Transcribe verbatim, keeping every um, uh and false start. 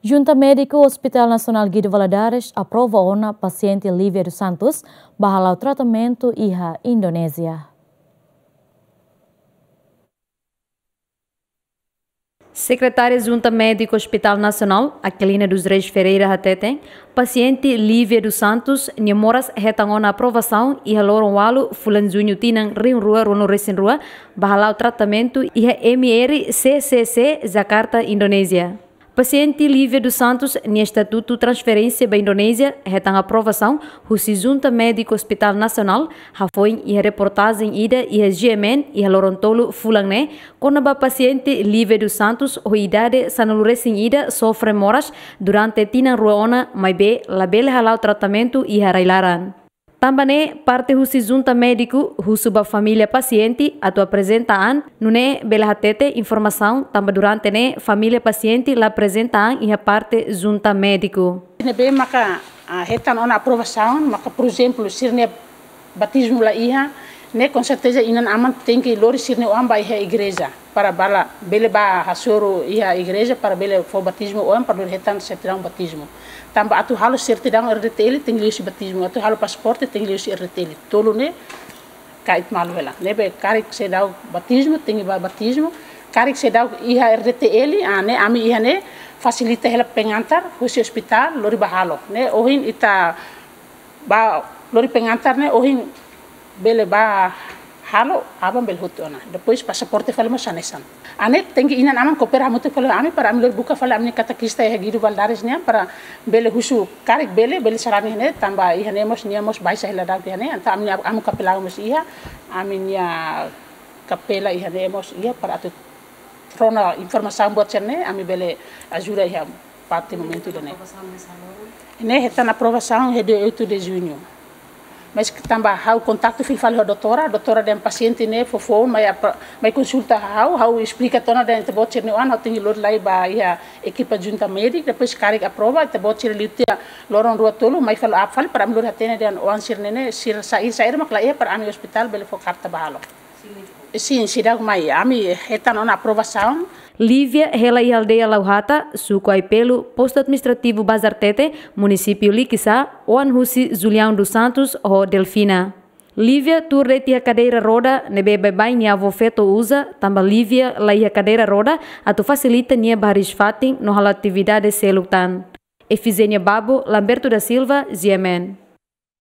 Junta Médiku Hospital Nasionál Guido Valadares aprova ona pasiente Lívia dos Santos ba hala'o tratamentu iha Indonézia. Sekretária Junta Médiku Hospital Nasionál, Aquilina dos Reis Ferreira hateten, pasiente Lívia dos Santos nia moras hetan ona aprovasaun iha loron ualu fulan Juñu tinan rihun rua ruanulu resin rua ba hala'o tratamentu iha M R C C C, Jakarta, Indonézia. Pasiente Lívia dos Santos nia estatutu transferénsia ba Indonézia hetan aprovasaun husi Junta Médiku Hospital Nasionál, hafoin iha reportajen ida iha G M N iha loron tolu fulan ne'e, kona-ba pasiente Lívia dos Santos ho idade sanulu resin ida sofre moras durante tinan rua ona, maibé labele hala'o tratamentu iha rai-laran. Tanba ne'e, parte husi Junta Médiku husu ba família pasiente atu aprezenta an, nune'e bele hatete informasaun tanba durante ne'e família pasiente la aprezenta an iha parte Junta Médiku. Ne'ebé maka, ah, hetan ona aprovasaun, maka, por ezemplu, sira-nia batizmu la iha, ne'e konserteza inan-aman tenke lori sira-nia oan ba iha igreja para bele, bele bá hasoru iha igreja para bele fó batizmu oan para lori hetan sertidaun batizmu. Tanba atu halo sertidaun R D T L tenke liuhusi batizmu, atu halo pasaporte tenke liuhusi R D T L. Tolu ne'e kait malu hela. Ne'ebé karik seidauk batizmu tenke bá batizmu, karik seidauk iha R D T L, ah, ne'e ami iha ne'e fasilita hela pengantar husi ospitál lori bá halo. Ne'e ohin ita bá lori pengantar ne'e ohin bele bá halo, aban bele hotu ona. Depois pasaporte fali mós hanesan. Hanesan tenke inan-aman koopera hamutuk fali ho ami para ami lori buka fali ami-nia katekista iha Guido Valadares nian para bele husu karik bele, bele sarani ne'e tanba iha ne'e mós nia mós baixa hela daudaun iha ne'e, entaun ami-nia, ami kapela mós iha, ami-nia kapela iha ne'e mós iha para atu rona informasaun buat sira-ne'e, ami bele ajuda iha parte momentu ida-ne'e. Ne'e hetan aprovasaun iha dia oito de junho. Mas tanba ha'u kontaktu fila fali ho doutora, doutora dehan pasiente ne'e fó foun, mai apro-, mai konsulta ha'u, ha'u esplika tiha ona dehan ita-boot sira-nia oan, ha'u tenke lori lai ba iha ekipa Junta Médiku, depois karik aprova, ita-boot sira liu tiha loron rua tolu, mai follow up fali para ami lori hatene dehan oan sira-ne'e ne'e, sira saida, saida mak la iha para ami ospitál bele fó karta bá halo. Sin, seidauk mai, ami hetan ona aprovasaun. Lívia hela iha aldeia Lauhata, suku Aipelu, postu administrativu Bazartete, munisípiu Likisá, oan husi Julião dos Santos ho Delfina. Lívia tuur de'it iha kadeira roda ne'ebé baibain nia avó feto uza, tanba Lívia la iha kadeira roda atu fasilita nia bá hariis-fatin no halo atividade seluk tan. Efigénia Babo, Lamberto da Silva, G M N.